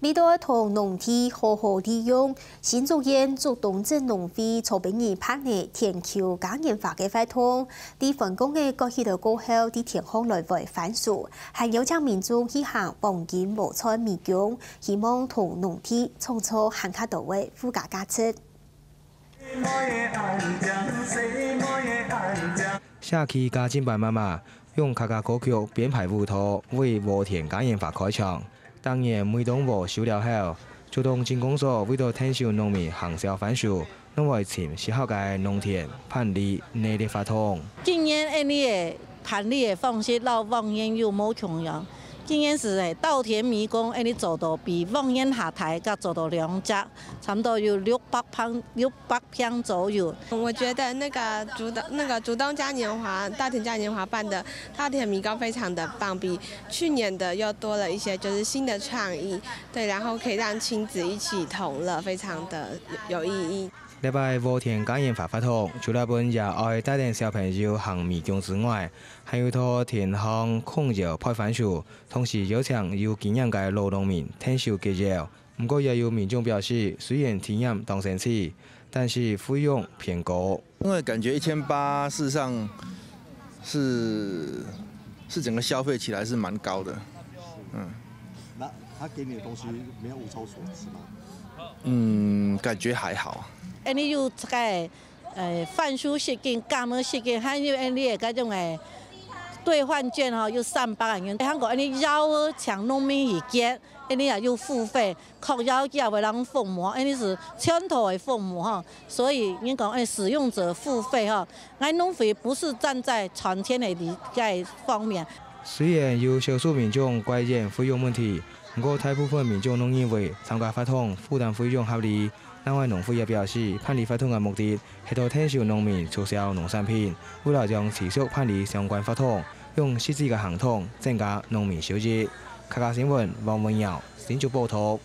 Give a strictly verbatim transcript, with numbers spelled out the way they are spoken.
為著同農地好好利用，新竹縣竹東鎮農會昨晡日辦理田坵嘉年華个活動，在返工个過去了過後，在田項來回番薯，還邀請民眾去行黃金禾菜迷宮，希望同農地創造還較多个附加價值。 社區家政班媽媽用客家歌曲編排舞蹈，為禾田嘉年華開場。逐年每當禾收了後，竹東鎮公所為著𢯭手農民行銷番薯，攏會尋適合个農田辦理這類活動。今年恁呢个辦理个方式，摎往年又無共樣。今年係稻田迷宮，恁呢做到比往年較大，佮做到兩隻，差毋多有六百坪，六百 坪左右。我觉得那个竹东那个竹东嘉年华、稻田嘉年华办的稻田迷宫非常的棒，比去年的又多了一些就是新的创意，对，然后可以让亲子一起同乐，非常的有意义。禮拜禾田嘉年华活動，除了分爺哀帶等小朋友行迷宮之外，還有到田項控窯焙番薯，同時邀請有經驗个老農民𢯭手結業。 毋過也有民眾表示，雖然體驗當新奇，但是費用偏高。因為感覺一千八，事實上是是整個消費起來是蠻高的，嗯。那他給你的東西沒有物超所值嗎？嗯，感覺還好。恁呢有這个，呃，番薯食緊、柑仔食緊，還有恁呢个該種个兑換券吼，有三百个銀。還過恁呢邀請農民去結，恁呢也有付費。 確實佢也會人服務，因為係全套个服務吼，所以人講，欸，使用者付費吼，𠊎農會不是站在賺錢个利益方面。雖然有少數民眾怪怨費用問題，毋過大部分民眾攏認為參加活動負擔費用合理。另外，農會也表示，辦理活動个目的係到𢯭手農民促銷農產品，為了將持續辦理相關活動，用實際个行動增加農民收益。客家新聞，王文耀，新竹報導。